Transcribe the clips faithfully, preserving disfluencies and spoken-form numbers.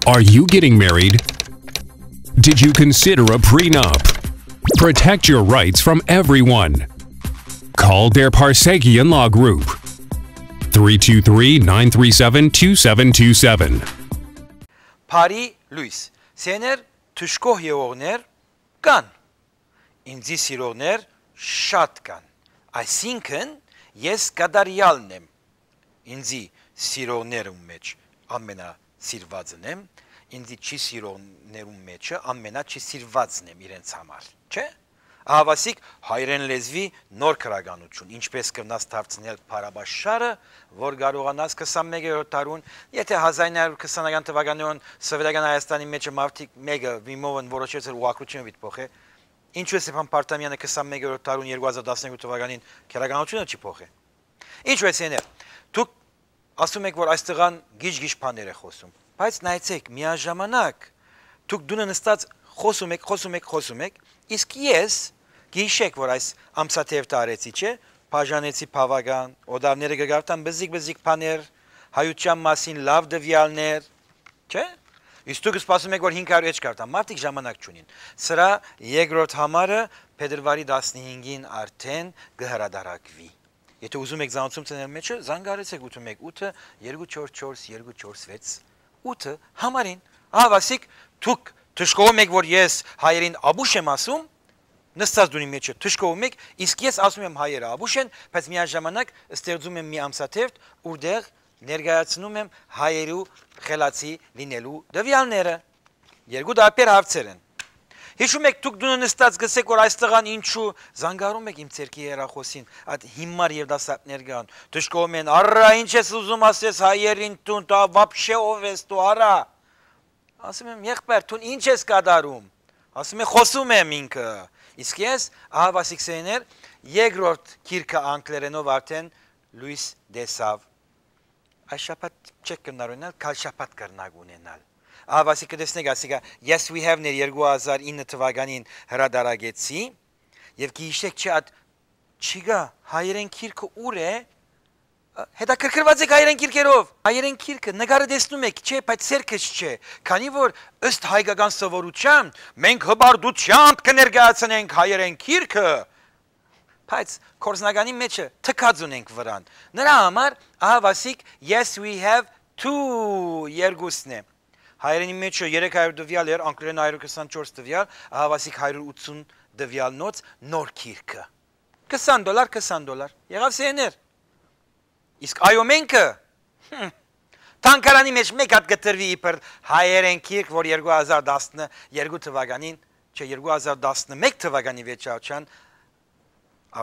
Are you getting married? Did you consider a prenup? Protect your rights from everyone. Call Der Parsegian Law Group, three two three, nine three seven, two seven two seven. Բարի լոյս։ Սեներ, թշկող եղողներ կան։ Ինձի սիրողներ շատ կան։ Այսինքն, ես կատարեալն եմ։ Ինձի սիրողներուն մէջ ամենասիրվածն եմ, ինձի չի սիրողներուն մէջը ամենաչիսիրվածն եմ իրենց համար, չէ՞։ Ահավասիկ հայերեն լեզուի նոր քրականություն, ինչպես կրնաս դարձնել փառաբաշխարը, որ կարողանաս քսանմեկերորդ դարուն, եթե հազար ինը հարիւր քսանական թվականներուն Սովետական Հայաստանի մէջը մարդիկ մէկը միմովն որոշեց էր ու ակրությունը պիտի փոխէ, ինչու է Ստեփան Պարտամեանը քսանմեկերորդ դարուն երկու հազար տասներկու թվականին քրականությունը չի փոխէ։ Ինչ որ սեներ, դուք ասում եք, որ այս տղան գիժ-գիժ բաներ է խօսում, բայց նայեցեք, միաժամանակ դուք տունը նստած խօսում եք, խօսում եք, խօսում եք, իսկ ես, գիշեք, որ այս ամսաթեւ տարեցի, չէ, բաժանեցի բաւական, օտարները կգարտան բզիկ-բզիկ բաներ, հայության մասին լաւ տվեալներ, չէ՞։ Իսկ դուք սպասում եք, որ հինգ հարիւր էջ կարտան, մարդիկ ժամանակ չունին։ Սրա երկրորդ համարը փետրվարի տասնհինգին արդեն կը հրադարակուի։ Եթե ուզում եք զանցում ցանել մեջը, զանգարեցեք ութը մեկ ութը, երկու չորս չորս, երկու չորս վեց, ութը համարին։ Ահա ասիկ, դուք դժգոհում եք, որ ես հայերին աբուշ եմ ասում, նստած դունի մեջը դժգոհում եք, իսկ ես ասում եմ հայերը աբուշ են, բայց միաժամանակ ստեղծում եմ մի ամսաթերթ, ուրտեղ ներկայացնում եմ հայերու խելացի լինելու տվյալները։ Երկու տարբեր հարցեր են։ Հիշում եք, դուք դունը նստած գսեք, որ այս տղան ինչու զանգարում եք իմ ցերկի հեռախոսին, այդ հիմար երիտասարդներ կան, դժգոհում են, «Առա, ինչ ես ուզում ասես հայերին տուն, տա, вообще ով ես դու, առա»։ Ասում եմ, «Եղբայր, դուն ինչ ես կատարում»։ Ասում է, «Խոսում եմ ինքը»։ Իսկ ես, ահա Վասիկ Սեյներ, երկրորդ գիրքը անգլերենով արդեն լոյս տեսաւ։ Այս շաբաթ չեք կրնար ունենալ, կալ շաբաթ կրնակ ունենալ։ Ահա Վասիկ, կը տեսնեք, ասիկա, Yes We Have-ներ երկու հազար ինը թվականին հրադարագեցի, եւ գիշեք չէ, այդ չի գա, հայերեն գիրքը ուր է, հետաքրքրված եք հայերեն գիրքերով։ Հայերեն գիրքը, նկարը տեսնում եք, չէ, բայց սերքս չէ, քանի որ ըստ հայկական սովորության մենք հպարտությամբ կը ներկայացնենք հայերեն գիրքը, բայց կորզնականի մեջը թքած ունենք վրան։ Նրա համար, ահա Վասիկ, Yes We Have two երկուսն է։ Հայերենի մեջը երեք հարիւր տվյալ էր, անգլերեն հարիւր քսանչորս տվյալ, ահա Վասիկ հարիւր ութսուն տվյալ նոց նոր գիրքը։ Քսան դոլար, քսան դոլար։ Եղավ Սեյներ։ Իսկ այո մենքը, հմ, թանգարանի մեջ մեկ հատ կտրուի իբր հայերեն գիրք, որ երկու հազար տասներկու թվականին, չէ, երկու հազար տասնմեկ թվականի վեճարչան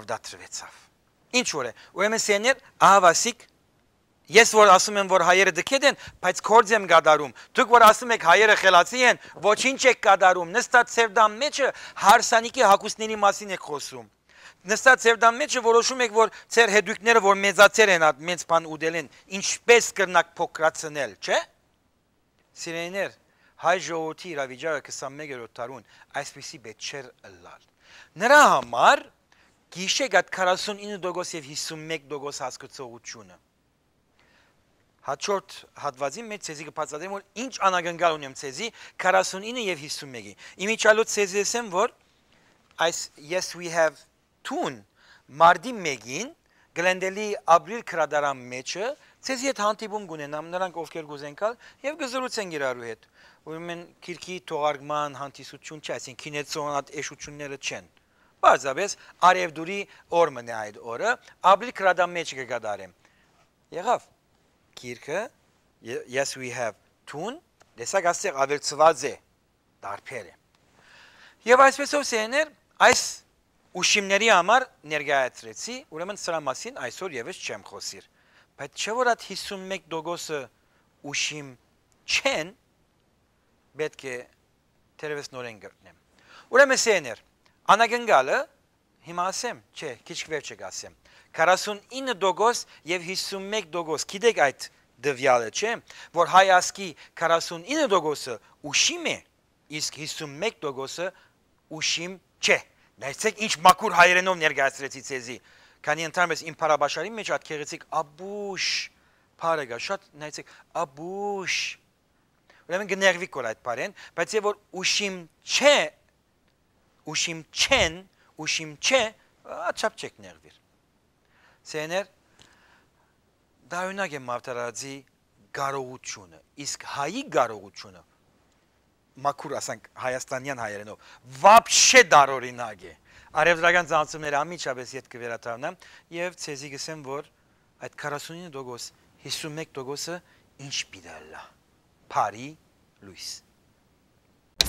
ավդատրվեցաւ։ Ինչ որ է, ուրեմն Սեյներ, ահա Վասիկ, ես որ ասում եմ, որ հայերը դքետ են, բայց կորձ եմ կատարում։ Դուք որ ասում եք հայերը խելացի են, ոչինչ եք կատարում։ Նստած Սերդան մեջը հարսանիքի հագուստների մասին եք խոսում։ Նստած Սերդան մեջը որոշում եք, որ ձեր հետուիկները, որ մեծացեր են, այդ մեծ բան ուտել են, ինչպես կրնակ փոքրացնել, չէ՞։ Սիրելիներ, հայ ժողովրդի իրավիճակը քսանմեկերորդ դարուն այսպիսի պէտք չէր ըլլալ։ Նրա համար գիշեք այդ քառասունինը տոկոս եւ հիսունմեկ տոկոս հասկացողությունը։ Հաջորդ հատվածին մեջ ձեզի կբացատրեմ, որ ինչ անակնկալ ունեմ ձեզի քառասունինը եւ հիսունմեկի։ Իմիջիայլոց ձեզի ասեմ, որ այս Yes We Have two-ն մարտի մեկին Գլենդելի Աբրիլ գրադարան մեջը ձեզի հետ հանդիպում կունենամ, նրանք ովքեր կուզեն գալ, եւ կզրուցենք իրարու հետ։ Ուրեմն գիրքի թողարկման հանդիսություն չէ, այսինքն՝ քինեցոն այդ էշությունները չեն։ Պարզապես արեւդուրի օր մնա այդ օրը, Աբրիլ գրադարան մեջ կկատարեմ։ Եղավ։ Գիրքը, Ye-, Yes We Have two-ն, տեսակ, ասեղ ավելցված է, տարբեր է։ Եվ այսպեսով, Սեյներ, այս ուշիմների համար ներկայացրեցի, ուրեմն սրա մասին այսօր եւս չեմ խօսիր։ Բայց չէ՞ որ այդ հիսունմեկ տոկոսը ուշիմ չեն, պէտք է թերեւս նորեն գտնեմ։ Ուրեմն, Սեյներ, անակնկալը, հիմա ասեմ, չէ, քիչ վերջը կասեմ, քառասունինը տոկոս եւ հիսունմեկ տոկոս, գիտեք այդ տվյալը, չէ՞, որ հայ ազգի քառասունինը տոկոսը ուշիմ է, իսկ հիսունմեկ տոկոսը ուշիմ չէ։ Նայեցեք, ինչ մաքուր հայերենով ներկայացրեցի ձեզի, քանի ընդհանրապես իմ փառաբաշարի մեջ այդ գեղեցիկ աբուշ բառը կա, շատ նայեցեք, աբուշ։ Ուրեմն կը նեղուի կոր այդ բառէն, բայց եւ որ ուշիմ չէ, ուշիմ չեն, ուշիմ չէ, աչափ չեք նեղուիր։ Սեներ, դա օրինակ է մարտարարածի կարողությունը, իսկ հայի կարողությունը, մաքուր ասանք հայաստանյան հայերենով, վապշե դարօրինակ է։ Արևտրական ծանցումները անմիջապես ետ կը վերադառնամ եւ ցեզի կսեմ, որ այդ քառասունինը տոկոս, հիսուն մէկ տոկոսը ինչ պիտի ըլլայ։ Բարի լոյս։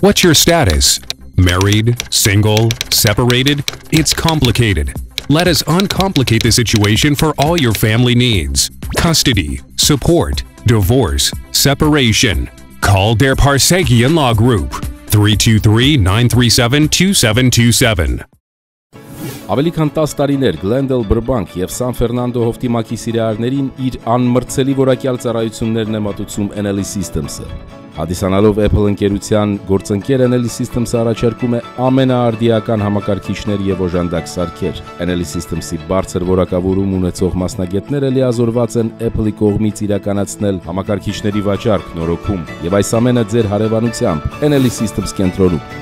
What's your status? Married, single, separated? It's complicated. Let us uncomplicate the situation for all your family needs. Custody, support, divorce, separation. Call Der Parsekian Law Group, three two three, nine three seven, two seven two seven. Աւելի քան տաս տարիներ Գլենդել Բրբանկ եւ Սան Ֆերնանդո հովտի մակի սիրահարներին իր անմրցելի որակեալ ծառայութիւններն է մատուցում N L E Systems-ը։ Հանդիսանալով Apple ընկերութեան գործընկեր, N L E Systems-ը առաջարկում է ամենաարդիական համակարգիչներ եւ օժանդակ սարքեր։ N L E Systems-ի բարձր որակավորում ունեցող մասնագետները լիազորված են Apple-ի կողմից իրականացնել համակարգիչների վաճառք, նորոգում եւ այս ամենը ձեր հարեւանությամբ N L E Systems կենտրոնում։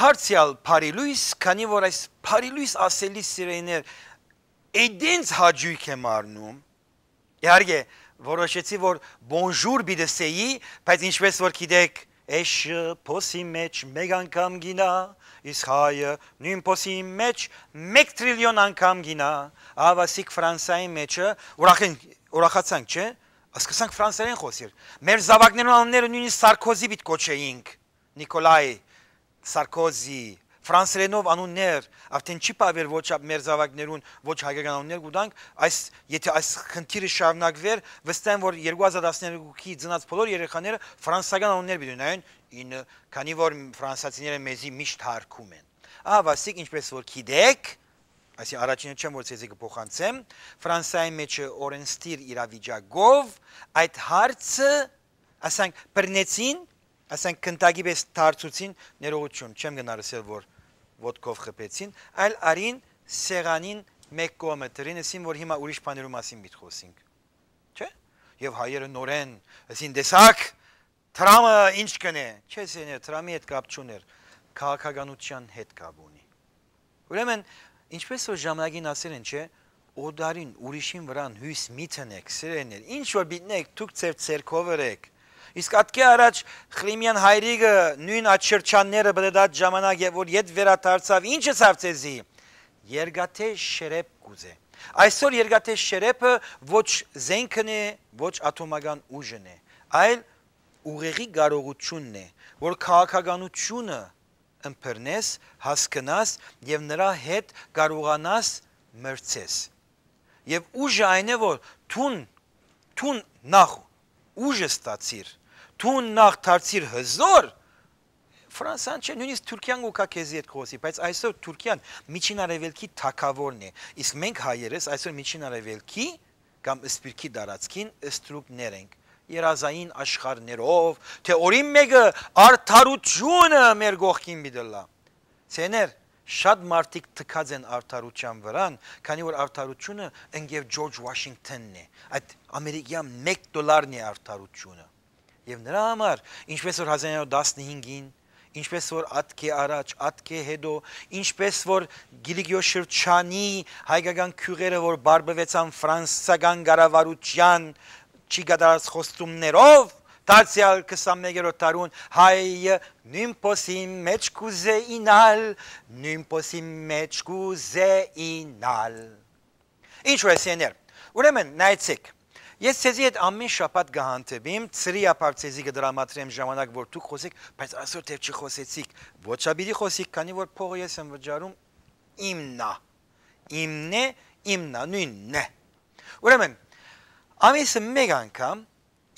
Դարձեալ բարի լոյս, քանի որ այս բարի լոյս ասելի սիրելիներ, այդենց հաճոյք եմ առնում, իհարկե, որոշեցի, որ bonjour պիտի սեի, բայց ինչպես որ գիտեք, էշը փոսի մեջ մեկ անգամ գինա, իսկ հայը նոյն փոսի մեջ մեկ տրիլիոն անգամ գինա, ահա ասիկ Ֆրանսայի մեջը, ուրախ են, ուրախացանք, չէ՞, սկսանք ֆրանսերեն խոսիլ։ Մեր զաւակներուն անունները նոյնիսկ Սարկոզի պիտի կոչէինք, Նիկոլայ Սարկոզի, ֆրանսերենով անուններ, արդեն չի բաւեր ոչ ա-, մեր զաւակներուն, ոչ հայկական անուններ կու տանք, այս, եթե այս խնդիրը շարունակուէր, վստահ եմ, որ երկու հազար տասներկուի ծնած բոլոր երեխաները ֆրանսական անուններ պիտի ունենային, ինը, քանի որ ֆրանսացիները մեզի միշտ հարկում են։ Ահա, ասիկ, ինչպես որ գիտեք, այսինքն առաջինը չեմ, որ ցեզի կփոխանցեմ, Ֆրանսայի մեջ օրենսդիր իրավիճակով այդ հարցը, ասենք, բռնեցին, ասենք, կնտակի պես դարձուցին, ներողություն, չեմ գնար ասել, որ ոտքով խփեցին, այլ արին սեղանին մեկ կողմը դրին, ասին, որ հիմա ուրիշ բաներու մասին պիտի խոսենք։ Չէ՞։ Եւ հայերը նորեն, ասին, տեսակ, Թրամը ինչ կնէ։ Չէ, սեներ, Թրամի հետ կապ չունէր, քաղաքականության հետ կապ ունի։ Ուրեմն, ինչպես որ ժամանակին ասել են, չէ, օտարին, ուրիշին վրան հոյս մի դնեք, սիրելիներ, ինչ որ պիտի եք, դուք ձեր ձեռքով ըրեք։ Իսկ ատկէ առաջ Խրիմեան հայրիկը նոյն աչերչանները բլդած ժամանակ, երբ որ ետ վերադարձաւ, ինչ ըսաւ ձեզի։ Երկաթե շերեփ կուզէ։ Այսօր երկաթե շերեփը ոչ զենքն է, ոչ աթոմական ուժն է, այլ ուղեղի կարողությունն է, որ քաղաքականությունը ըմբռնես, հասկնաս եւ նրա հետ կարողանաս մրցես։ Եւ ուժը այն է, որ դուն, դուն նախ ուժը ստացիր, դուն նախ դարձիր հզոր, Ֆրանսան չէ, նոյնիսկ Թուրքիան կու գայ քեզի հետ կխօսի, բայց այսօր Թուրքիան Միջին Արեւելքի թագաւորն է, իսկ մենք հայերս այսօր Միջին Արեւելքի կամ սփիւռքի տարածքին ստրուկներ ենք, երազային աշխարհներով, թե օրին մէկը արդարությունը մեր կողքին պիտի ըլլայ։ Սեներ, շատ մարդիկ թքած են արդարության վրան, քանի որ արդարությունը ընկեր Ջորջ Ուաշինգթոնն է, այդ ամերիկյան մեկ դոլարն է արդարությունը։ Եւ նրա համար, ինչպես որ հազար նոյ հարյուր տասնհինգին, ինչպես որ ատկէ առաջ, ատկէ հետո, ինչպես որ Կիլիկիոյ շրջանի հայկական գիւղերը, որ բարբուեցան ֆրանսական կառավարութեան չի կատարած խոստումներով, դարձեալ քսանմեկերորդ դարուն հայը նոյն փոսի մեջ կուզէ ինալ, նոյն փոսի մեջ կուզէ ինալ։ Ինչ որ էսեներ։ Ուրեմն, նայեցեք, ես ձեզի հետ ամեն շաբաթ կը հանդիպիմ, ծրիապար ձեզի կը դրամատրեմ ժամանակ, որ դուք խօսեք, բայց այսօր դեռ չի խօսեցիք, ոչ ա պիտի խօսիք, քանի որ փողը ես եմ վճարում, իմն ա, իմն է, իմն ա, նոյնն է։ Ուրեմն, ամիսը մեկ անգամ,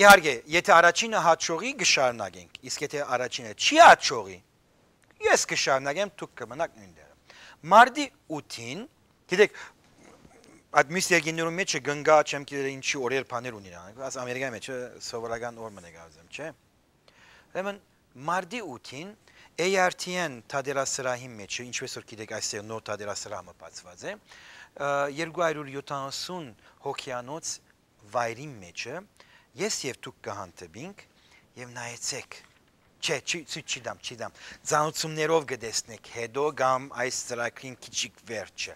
իհարկե, եթե առաջինը հաջողի, կշարունակենք, իսկ եթե առաջինը չի հաջողի, ես կշարունակեմ, դուք կմնաք նոյնտեղը։ Մարտի ութին, գիտեք, այդ մյուս երկիրներուն մէջը կնկայ, չեմ գիտեր ինչի օրեր բաներ ունին, աս Ամերիկայի մէջը սովորական օր մը նկարազեմ, չէ՞։ Ուրեմն, մարտի ութին, A R T N թատերասրահին մէջը, ինչպես որ գիտեք, այստեղ նոր թատերասրահ մը բացուած է, ը, երկու հարիւր յոթանասուն հոգեանոց վայրին մէջը, ես եւ դուք կը հանդիպինք եւ նայեցեք, չէ, չի, չի, չի դամ, չի դամ, ծանուցումներով կը տեսնեք հետո կամ այս ծրագրին քիչիկ վերջը,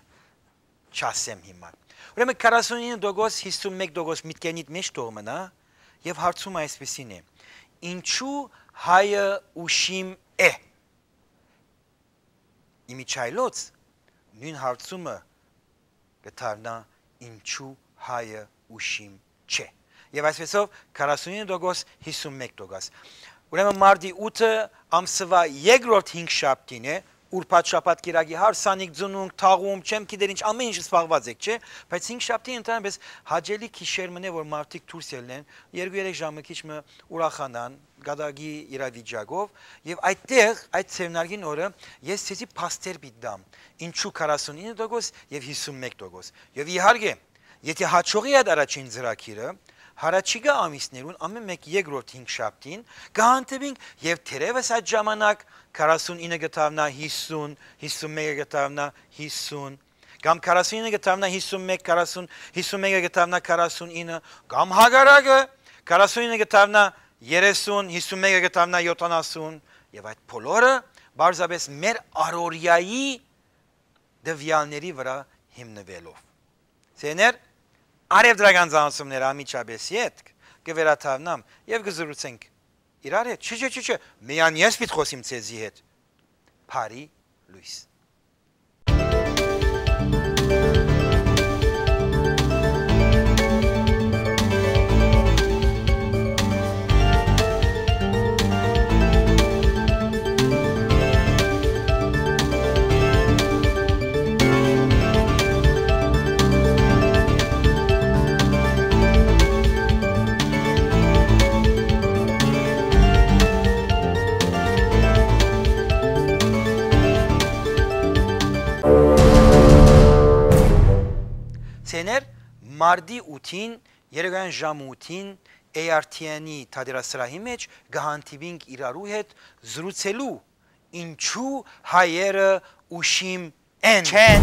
չասեմ հիմա։ Ուրեմն քառասունինը տոկոս, հիսուն մէկ տոկոս միտքերնիդ մէջ թող մնայ, եւ հարցումը այսպեսին է. ինչու հայը ուշիմ է։ Իմիջայլոց նոյն հարցումը կը դառնայ. ինչու հայը ուշիմ չէ։ Եւ այսպեսով քառասունինը տոկոս, հիսուն մէկ տոկոս։ Ուրեմն մարտի ութը ամսուայ երկրորդ հինգշաբթին է, ուրբաթ շաբաթ կիրակի հարսանիք, ծնունդ, թաղում, չեմ գիտեր ինչ, ամեն ինչ զբաղուած եք, չէ՞, բայց հինգշաբթին ընդհանրապես հաճելի գիշեր մնե, որ մարդիկ դուրս ելնեն, երկու երեք ժամը քիչ մը ուրախանան, կատակի իրավիճակով, եւ այդտեղ, այդ ձեռնարկին օրը, ես ցեզի փաստեր պիտի տամ, ինչու քառասունինը տոկոս եւ հիսուն մէկ տոկոս։ Եւ իհարկե, եթե հաջողի այդ առաջին ծրագիրը, հառաջիկայ ամիսներուն ամէն մէկ երկրորդ հինգշաբթին կը հանդիպինք եւ թերեւս այդ ժամանակ քառասունինը կը դառնայ հիսուն, հիսուն մէկը կը դառնայ հիսուն, կամ քառասունինը կը դառնայ հիսուն մէկ, քառասուն, հիսուն մէկը կը դառնայ քառասունինը, կամ հակառակը, քառասունինը կը դառնայ երեսուն, հիսուն մէկը կը դառնայ յոթանասուն, եւ այդ բոլորը պարզապէս մեր առօրեայի տվեալների վրայ հիմնուելով։ Սիրելիներ, առեւտրական ծանուցումները անմիջապէս ետք կը վերադառնամ եւ կը զրուցենք իրար հետ։ Չէ, չէ, չէ, չէ, միայն ես պիտի խօսիմ ձեզի հետ։ Բարի լոյս։ Սիրելիներ, մարտի ութին, երեկոյեան ժամը ութին, A R T N-ի թատերասրահի մէջ կը հանդիպինք իրարու հետ զրուցելու, ինչու հայերը ուշիմ են, չեն։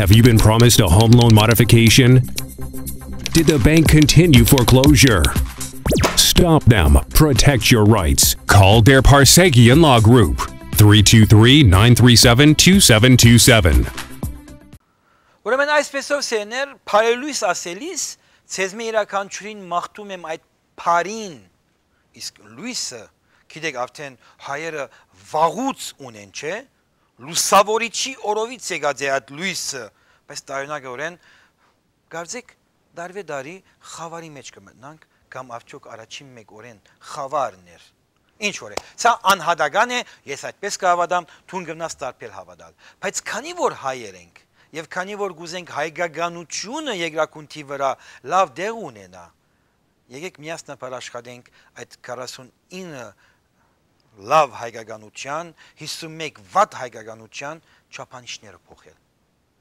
Have you been promised a home loan modification? Did the bank continue foreclosure? Stop them. Protect your rights. Call Der Parsegian Law Group, three two three, nine three seven, two seven two seven. Ուրեմն այսպեսով, սիրելիներ, բարելույս ասելիս, ձեզմէ իւրաքանչիւրին մաղթում եմ այդ բարին, իսկ լոյսը, գիտեք, արդեն հայերը վաղուց ունեն, չէ՞, լուսաւորիչի օրովից եկած է այդ լոյսը, բայց տարօրինակօրէն կարծեք, տարուէ տարի խաւարի մէջ կը մտնանք, կամ արդեօք առաջին մէկ օրէն խաւարն էր։ Ինչ որ է, սա անհատական է, ես այդպես կը հաւատամ, դուն կրնաս տարբեր հաւատալ։ Բայց քանի որ հայեր ենք, եւ քանի որ կ'ուզենք հայկականութիւնը երկրագունդի վրայ լաւ տեղ ունենայ, եկեք միասնաբար աշխատենք այդ քառասունինը լաւ հայկականութեան, հիսուն մէկ վատ հայկականութեան չափանիշները փոխել։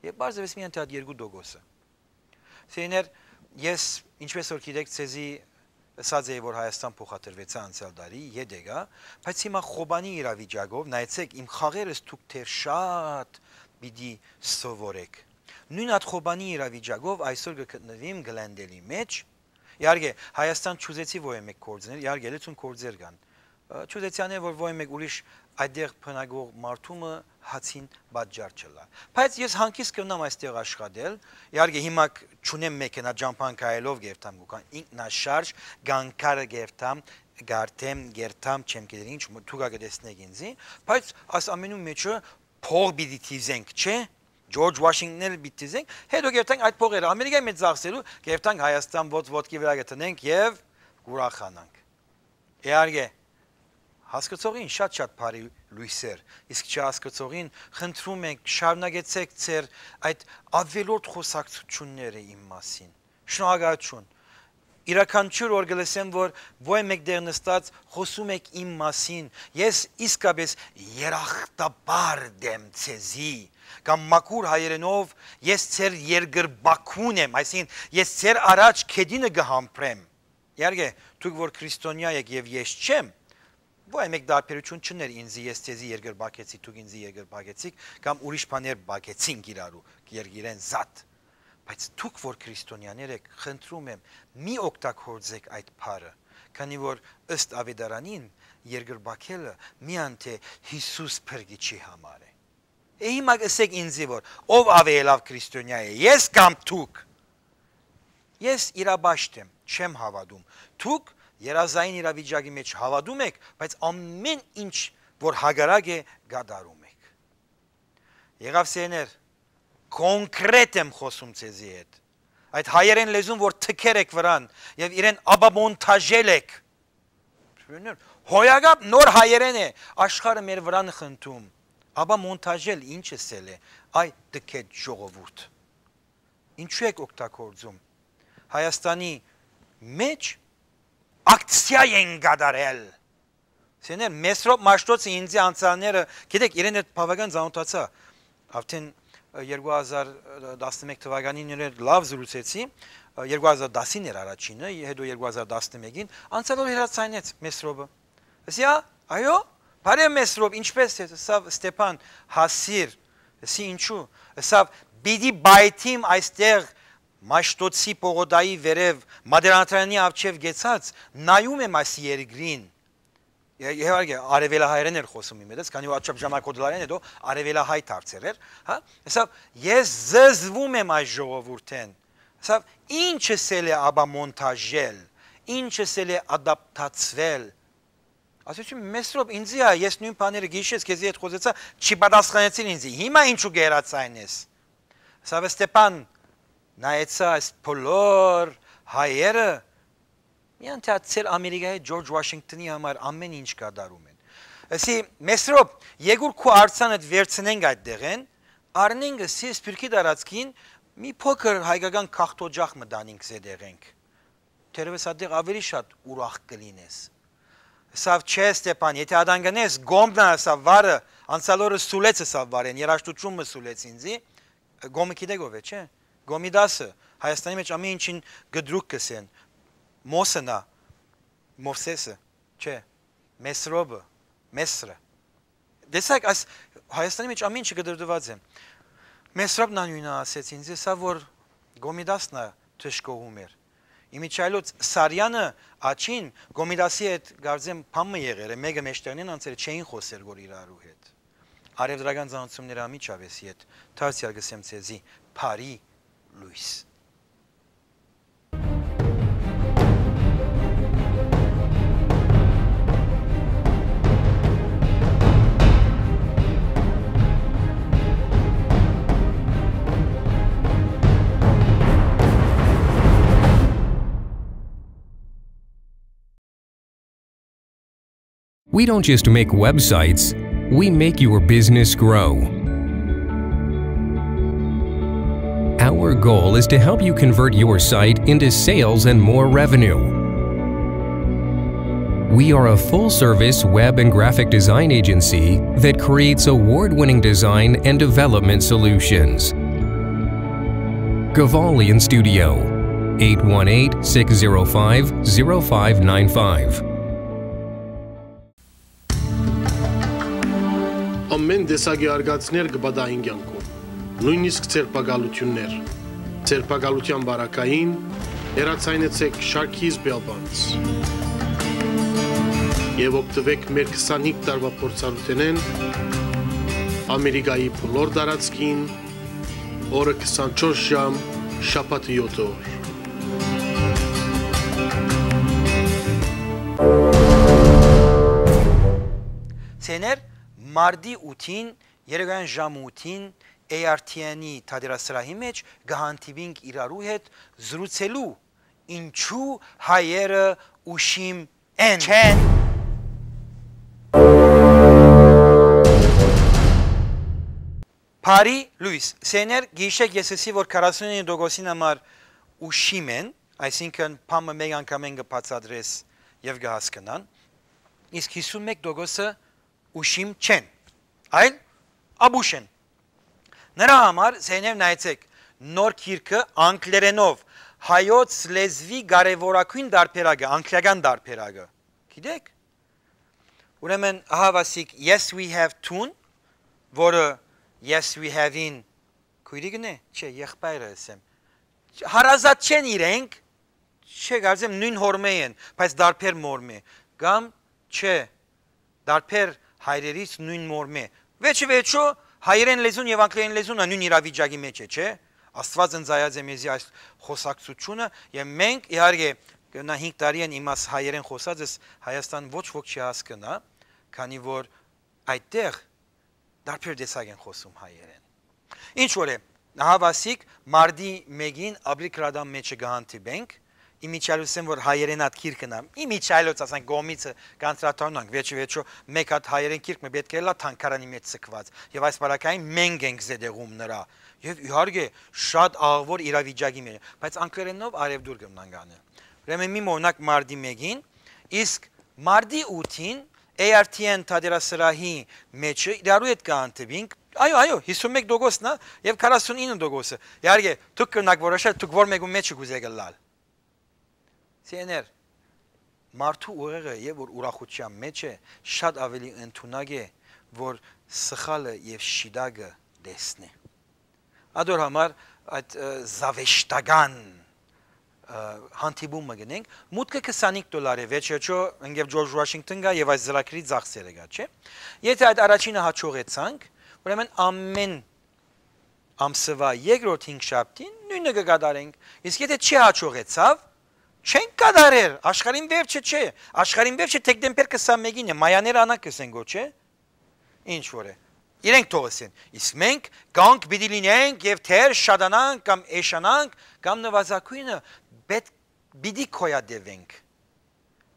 Եւ պարզվեց միայն թե այդ երկու տոկոսը։ Սիրելիներ, ես, ինչպես որ գիտեք, ձեզի ըսած էի, որ Հայաստան փոխադրուեցայ անցյալ տարի, յետք ա, բայց հիմա Խոբանի իրավիճակով, նայեցեք, իմ խաղերս դուք դեռ շատ պիտի սովորեք։ Նոյն այդ Խոբանի իրավիճակով այսօր կը գտնուիմ Գլենդելի մէջ։ Իհարկե, Հայաստան չուզեցի որ մէկ գործ ներ, իհարկե, լեցուն գործեր կան, Ը, չուզեցի անել, որ ոյ մէկ ուրիշ այդտեղ բնակող մարդու մը հացին պատճառ չըլլայ։ Բայց ես հանգիստ կրնամ այստեղ աշխատել, իհարկե հիմա կ-, չունեմ մեքենա ճամփան քայլով կերթամ գուքան, ինքնաշարժ, գանկարը կերթամ, գարթեմ, կերթամ, չեմ գիտեր ինչ, մը-, դուք ա կտեսնեք ինձի, բայց այս ամենու մեջը փող պիտի դիզենք, չէ՞։ Ջորջ Ուաշինգտոն էլ պիտի դիզենք, հետո կերթանք այդ փողերը Ամերիկայի մեջ ծախսելու, կերթանք Հայաստան ոտք ոտքի վրա կտնենք եւ կուրախանանք։ Իհարկե, հասկցողին շատ-շատ բարի լոյսեր, իսկ չհասկցողին խնդրում ենք, շարունակեցեք ձեր այդ ավելորդ խոսակցությունները իմ մասին։ Շնորհակալություն։ Իրականչուր որ կը լսեմ, որ ոյ մէկ դեր նստած խոսում եք իմ մասին, ես իսկապես երախտապարտ եմ ձեզի, կամ մաքուր հայերենով, ես ձեր երկրպագուն եմ, այսինքն ես ձեր առաջ քեդինը կը համբրեմ։ Իհարկե, դուք որ քրիստոնեայ եք եւ ես չեմ, ոյ մէկ տարբերություն չուներ ինձի, ես ձեզի երկրպագեցի, դուք ինձի երկրպագեցիք, կամ ուրիշ բաներ պագեցինք իրարու, երկիրեն զատ։ Բայց դուք որ քրիստոնեաներ եք, խնդրում եմ, մի օգտագործեք այդ բառը, քանի որ ըստ ավետարանին երկրպագելը միայն թե Յիսուս փրկիչի համար է։ Է հիմա ըսեք ինձի, որ ով աւելաւ քրիստոնեայ է, ես կամ դուք։ Ես իրապաշտ եմ, չեմ հաւատում։ Դուք երազային իրավիճակի մեջ հաւատում եք, բայց ամեն ինչ որ հակառակ է, կատարում եք։ Եղաւ սեներ, կոնկրետ եմ խոսում ձեզի հետ։ Այդ հայերեն լեզուն որ թքեր եք վրան եւ իրեն ապամոնտաժել եք։ Հոյակապ նոր հայերեն է, աշխարհը մեր վրան խնդում։ Ապա մոնտաժել ինչ ըսել է, այ տքետ ժողովուրդ։ Ինչու եք օգտագործում։ Հայաստանի մեջ ակցիա են կատարել։ Սեներ, Մեսրոպ Մաշտոցը ինձի անցյալները, գիտեք, իրեն հետ բավական ծանոթացա։ Արդեն, ը, երկու հազար տասնմեկ թվականին իրեն լավ զրուցեցի, ը, երկու հազար տասին էր առաջինը, հետո երկու հազար տասնմեկին, անցյալ օր հեռացայնեց Մեսրոպը։ Ասի, «Ա, այո, բարև Մեսրոպ, ինչպե՞ս ես»։ Ասաւ, «Ստեփան, հասիր», ասի, «Ինչու»։ Ասաւ, «Պիտի պայթիմ այստեղ Մաշտոցի պողոտայի վերև, Մատեանատրյանի առջեւ գեցած, նայում եմ այս երկրին»։ Ե-, իհարկե, արևելահայերեն էր խոսում իմ հետ, քանի որ աչափ ժամանակոդլարեն հետո արևելահայ դարձեր էր, հա։ Ասաւ, «Ես զզվում եմ այս ժողովուրդէն»։ Ասաւ, «Ինչ ըսել է ապա մոնտաժել, ինչ ըսել է ադապտացվել»։ Ասեցի, «Մեսրոպ, ինձի ա, ես նոյն բաները գիշեր քեզի հետ խոզեցայ, չի պատասխանեցիր ինձի, հիմա ինչու կը հեռացայնես»։ Ասաւ, «Ստեփան, նայեցա այս բոլոր հայերը, միայն թե ա- ձեր Ամերիկայի Ջորջ Ուաշինգտոնի համար ամեն ինչ կատարում են»։ Ասի, «Մեսրոպ, եկուր քու արձանդ վերցնենք այդ դեղեն, առնենք սի սփիւռքի տարածքին մի փոքր հայկական քախտօջախ մը տանինք զետեղենք։ Թերևս ատեղ ավելի շատ ուրախ կլինես»։ Ասաւ, «Չէ, Ստեփան, եթե ատան գնես, գոմնա», ասաւ, «վարը, անցյալ օրը սուլեց», ասաւ, «վարեն, երաժշտություն մը սուլեց ինձի»։ Գոմը գիտեք ով է, չէ՞։ Գոմի դասը, Հայաստանի մեջ ամեն ինչին գդրուկ կսեն։ Մոսնա, Մովսեսը, չէ, Մեսրոպը, Մեսրը։ Տեսակ, այս Հայաստանի մեջ ամեն ինչը կդրդված է։ Մեսրոպն անյունը ասեց ինձ, սա որ Գոմի դասն ա դժգոհում էր։ Իմիջայլոց Սարյանը աջին Գոմի դասի հետ կարծեմ բան մը եղեր է, մեկը մեջտեղնին անցել չէին խոսեր գոր իրարու հետ։ Արևտրական ծանոթությունները անմիջապէս յետ դարձեալ կսեմ ձեզի բարի լոյս։ We don't just make websites, we make your business grow. Our goal is to help you convert your site into sales and more revenue. We are a full service web and graphic design agency that creates award winning design and development solutions. Gavalian Studio, eight one eight, six zero five, zero five nine five. Ամեն տեսակի արգածներ կը պատահին կյանքում, նոյնիսկ ձերբակալութիւններ։ Ձերբակալութեան պարագային հեռացայնեցէք Շարքիս Բելբանց։ Եւ օգտուեք մեր քսանհինգ տարուայ փորձառութենէն Ամերիկայի բոլոր տարածքին, օրը քսանչորս ժամ, շաբաթը յոթ օր։ Սեներ, մարտի ութին, երեկոյան ժամ ութին, A R T N-ի թատերասրահի մէջ կը հանդիպինք իրարու հետ զրուցելու, ինչու հայերը ուշիմ են։ Չեն։ Բարի լոյս։ Սեներ, գիշեք, ես ըսի, որ քառասունինը տոկոսին համար ուշիմ են, այսինքն՝ բան մը մէկ անգամէն կը բացատրես եւ կը հասկնան, իսկ հիսուն մէկ տոկոսը ուշիմ չեն, այլ աբուշ են։ Նրա համար, Սեներ, նայեցեք, նոր գիրքը անգլերենով, հայոց լեզուի կարեւորագոյն տարբերակը, անգլիական տարբերակը։ Գիտեք։ Ուրեմն, ահա վասիկ, Yes We Have Two-ն, որը Yes We Have-ին քոյրիկն է, չէ, եղբայրը ըսեմ, հարազատ չեն իրենք, չէ, կարծեմ նոյն հօրմէ են, բայց տարբեր մօրմէ, կամ, չէ, տարբեր հայրերից նոյն մօրմէ։ Վերջը վերջոյ, հայերէն լեզուն եւ անգլերէն լեզուն ալ նոյն իրավիճակի մէջ է, չէ՞։ Աստուած ընծայած է մեզի այս խօսակցութիւնը, եւ մենք, իհարկե, կը-, նա հինգ տարի են իմաց հայերէն խօսած ես, Հայաստան ոչ ոք չի հասկնայ, քանի որ այդտեղ տարբեր տեսակ են խօսում հայերէն։ Ինչ որ է, ահա վասիկ, մարտի մէկին Աբրի Կրադան մէջը կը հանդիպենք, իմիջիայլոց, որ հայերէն ատ գիրքը նայեմ, իմիջիայլոց, ասենք, կողմիցը կանդրադառնանք, վերջը վերջոյ մէկ հատ հայերէն գիրք մը պէտք է ըլլայ թանգարանի մէջ ձգուած, եւ այս պարագային մենք ենք զետեղում նրա, եւ իհարկե շատ աղուոր իրավիճակի մէջ, բայց անգլերէնով արեւտուր կը մնանք անը։ Ուրեմն մի մոռնաք մարտի մէկին, իսկ մարտի ութին A R T N թատերասրահի մէջը իրարու հետ կը հանդիպինք, այո, այո, հիսուն մէկ տոկոսն է եւ քառասունինը տոկոսը։ Իհարկե, դուք կրնաք որոշել, դուք որ մէկու մէջը կ'ուզէք ըլլալ։ Սեներ, մարդու ուղեղը, երբ որ ուրախութեան մէջ է, շատ աւելի ընդունակ է, որ սխալը եւ շիտակը տեսնի։ Ադոր համար այդ, ը, զաւեշտական, ը, հանդիպումը գնենք, մուտքը քսանհինգ դոլար է, վերջեջո ընկեր Ջորջ Ուաշինգտոն կայ եւ այս ծրագրի ծախսերը կայ, չէ՞։ Եթե այդ առաջինը հաջողեցանք, ուրեմն ամէն ամսուայ երկրորդ հինգշաբթին նոյնը կը կատարենք, իսկ եթե չի հաջողեցաւ, չենք կատարեր, աշխարհին վերջը չէ, աշխարհին վերջը դեկտեմբեր քսանմէկին է, մայաներ անակ կ'ըսեն գոչ է, ինչ որ է, իրենք թող ըսեն, իսկ մենք կանգ պիտի լինենք եւ թեր շատանանք կամ էշանանք կամ նուազագոյնը պէտ-, պիտի գոյատեւենք։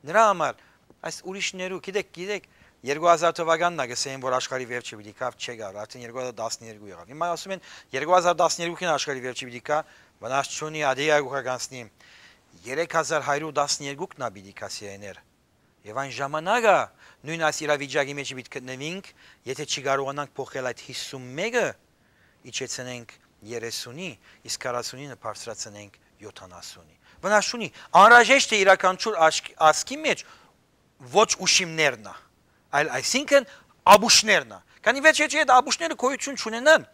Նրա համար այս ուրիշներու, գիտեք, գիտեք, երկու հազար թվականն ա, կ'ըսեն, որ աշխարհի վերջը պիտի գայ, չէ գար, արդեն երկու հազար տասներկու եղաւ։ Հիմա ասում են, երկու հազար տասներկուին աշխարհի վերջը պիտի գայ, վնաս չունի, ադի ակուքա կանցնի։ Երեք հազար հարյուր տասներկուքն ա պիտի գայ, սիրեներ։ Եւ այն ժամանակը նոյն այս իրավիճակի մէջ պիտի գտնուինք, եթե չի կարողանանք փոխել այդ հիսուն մէկը, իջեցնենք երեսունի, իսկ քառասունինը բարձրացնենք յոթանասունի։ Վնաս չունի, անհրաժեշտ է յուրաքանչյուր աշկ-, ազգի մէջ ոչ ուշիմներն ա, այլ այսինքն աբուշներն ա։ Քանի վերջ, վերջ այդ աբուշները գոյություն չունենան,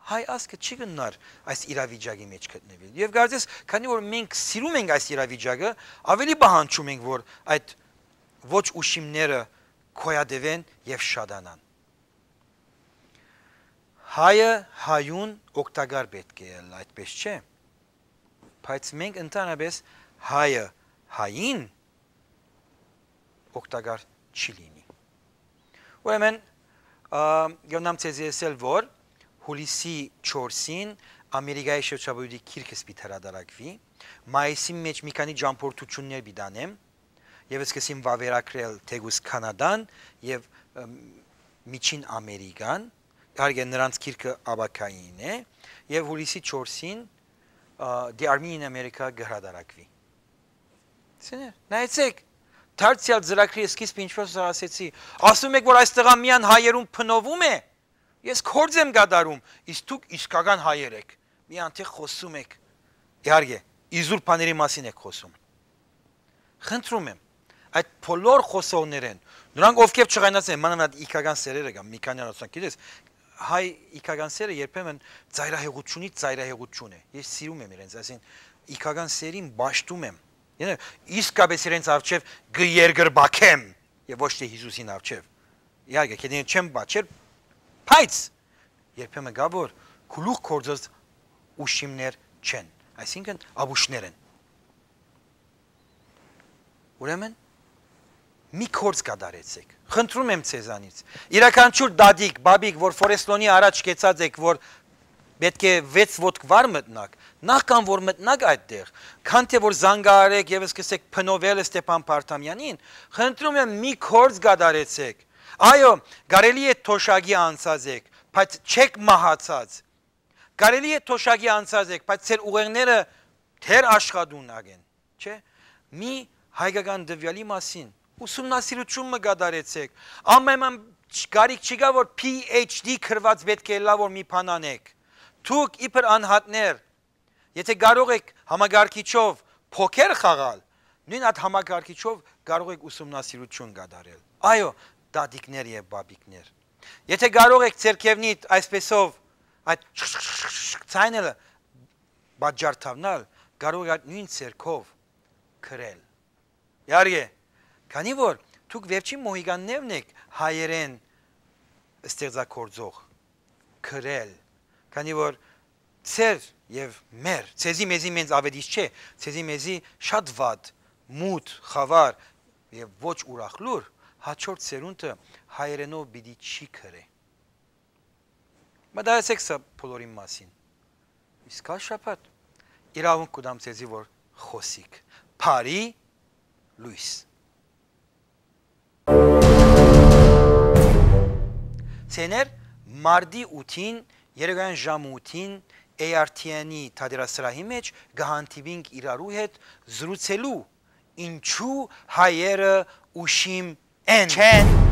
հայ ազգը չի գնար այս իրավիճակի մէջ գտնվել։ Եւ կարծես, քանի որ մենք սիրում ենք այս իրավիճակը, ավելի պահանջում ենք, որ այդ ոչ ուշիմները գոյատևեն եւ շատանան։ Հայը հայուն օգտակար պէտք է ըլլայ, այդպես չէ՞։ Բայց մենք ընդհանրապես հայը հային օգտակար չի լինի։ Ուրեմն, ա, կրնամ ձեզի ըսել, որ հուլիսի չորսին Ամերիկայի շրջապատի գիրքս պիտի հրատարակուի, մայիսի մէջ մի քանի ճամփորդություններ պիտի անեմ, եւ սկսեմ վավերագրել թէկուզ Քանադան եւ, ըմ, Միջին Ամերիկան, իհարկե, նրանց գիրքը ապագային է, եւ հուլիսի չորսին, ա, The Armenian America կը հրատարակուի։ Սեներ, նայեցեք, դարձեալ ծրագրի սկիզբը ինչպես ասեցի, ասում եք, որ այս տղան միայն հայերուն փնովում է, ես գործ եմ կատարում, իսկ դուք իսկական հայեր եք, միայն թե խոսում եք, իհարկե, իզուր բաների մասին եք խոսում։ Խնդրում եմ, այդ բոլոր խոսողներէն, նրանք ովքեր չղայնած են, մանավանդ իգական սերերը կամ մի քանի անոցանք, գիտես, հայ իգական սերը երբեմն ծայրահեղությունից ծայրահեղություն է։ Ես սիրում եմ իրենց, այսինքն իգական սերին պաշտում եմ, Յանը իսկապէս իրենց արջեւ կը երկրպագեմ եւ ոչ թէ Յիսուսին արջեւ։ Իհարկե, քեզի չեմ պատժեր, բայց երբեմն կայ որ գլուխ գործած ուշիմներ չեն, այսինքն՝ ապուշներ են։ Ուրեմն, մի գործ կատարեցէք։ Խնդրում եմ ձեզանից, իւրաքանչիւր դատիկ, բաբիկ, որ Ֆորեսլոնի առաջ կեցած էք, որ պէտք է վեց ոտք վար մտնաք, նախքան որ մտնաք այդտեղ, քան թէ որ զանգահարէք եւ սկսեք փնովել Ստեփան Փարթամեանին, խնդրում եմ, մի գործ կատարեցէք։ Այո, կարելի է թոշակի անցած էք, բայց չեք մահացած։ Կարելի է թոշակի անցած էք, բայց ձեր ուղեղները դեռ աշխատունակ են, չէ՞։ Մի հայկական տուեալի մասին ուսումնասիրութիւն մը կատարեցէք։ Անպայման չ-, կարիք չկայ որ P H D գրուած պէտք է ըլլայ որ մի բան անէք։ Դուք իբր անհատներ, եթէ կարող էք համակարգիչով փոքեր խաղալ, նոյն այդ համակարգիչով կարող էք ուսումնասիրութիւն կատարել։ Այո, տատիկներ եւ բաբիկներ, եթէ կարող էք ձերքեւնիդ այսպեսով այդ շշշշշշ ձայնը պատճառ դառնալ, կարող եք այդ նոյն ձերքով գրել։ Իհարկե, քանի որ դուք վերջին մոհիկաններն եք հայերէն ստեղծագործող, գրել, քանի որ ձեր եւ մեր, ձեզի մեզի մենծ աւետիս չէ, ձեզի մեզի շատ վատ, մութ, խավար եւ ոչ ուրախ լուր, հաջորդ սերունդը հայերէնով պիտի չի գրէ։ Մտածեցեք սա բոլորին մասին։ Իսկ ա շաբաթ իրաւունք կու տամ ձեզի որ խօսիք։ Բարի լոյս։ Ցեներ, մարտի ութին, երեկոյան ժամը ութին, A R T N-ի թատերասրահի մէջ կը հանդիպինք իրարու հետ զրուցելու ինչու հայերը ուշիմ են։ Չեն։